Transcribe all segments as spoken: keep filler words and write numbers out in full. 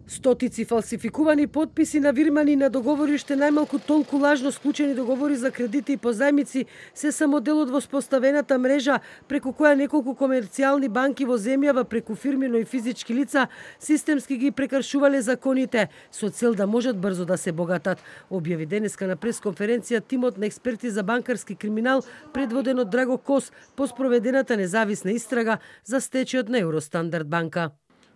Стотици фалсификувани потписи на вирмани на договори, уште најмалку толку лажно склучени договори за кредити и позајмици се само дел од воспоставената мрежа преку која неколку комерцијални банки во земјава преку фирми, но и физички лица системски ги прекршувале законите со цел да можат брзо да се богатат, објави денеска на пресконференција тимот на експерти за банкарски криминал предводен од Драго Кос по спроведената независна истрага за стечајот на Евростандард банка.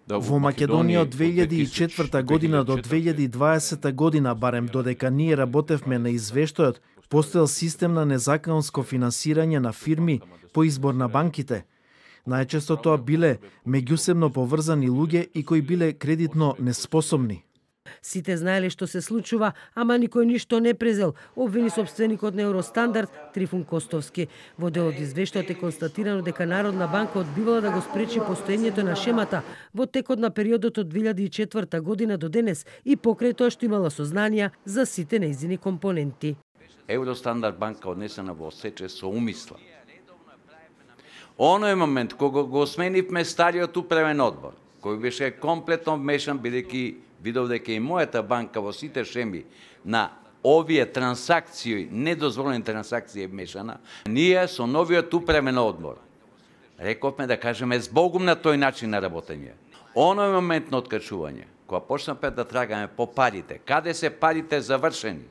Во Македонија од две илјади и четврта година до две илјади и дваесета година, барем додека ние работевме на извештајот, постоел систем на незаконско финансирање на фирми по избор на банките. Најчесто тоа биле меѓусебно поврзани луѓе и кои биле кредитно неспособни. Сите знаеле што се случува, ама никој ништо не презел, обвини сопственикот на Евростандард Трифун Костовски. Во дел од извештајот е констатирано дека Народна банка одбивала да го спречи постоењето на шемата во текот на периодот од две илјади и четврта година до денес и покрај тоа што имала сознанија за сите нејзини компоненти. Евростандард банка однесена во сече со умисла. Оној момент кога го сменивме стариот управен одбор, кој беше комплетно вмешан бидејќи видов дека и мојата банка во сите шеми на овие трансакции, недозволени трансакции е вмешана, ние со новиот управен одбор рековме да кажеме збогум на тој начин на работење. Оној момент на откачување, кога почнавме да трагаме по парите, каде се парите завршени,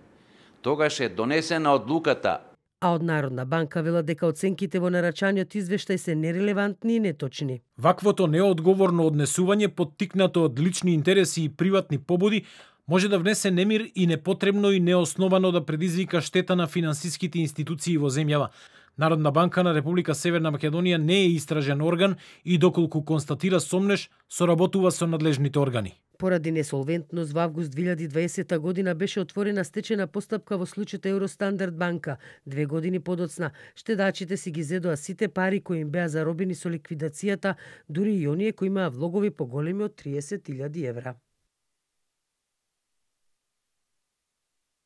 тогаш е донесена одлуката. А од Народна банка вела дека оценките во нарачаниот извештај се нерелевантни и неточни. Ваквото неодговорно однесување поттикнато од лични интереси и приватни побуди може да внесе немир и непотребно и неосновано да предизвика штета на финансиските институции во земјава. Народна банка на Република Северна Македонија не е истражен орган и доколку констатира сомнеш, соработува со надлежните органи. Поради несолвентност во август две илјади и дваесета година беше отворена стечена постапка во случајот Евростандард банка. Две години подоцна, штедачите си ги зедоа сите пари кои им беа заробени со ликвидацијата, дури и оние кои имаа влогови поголеми од триесет илјади евра.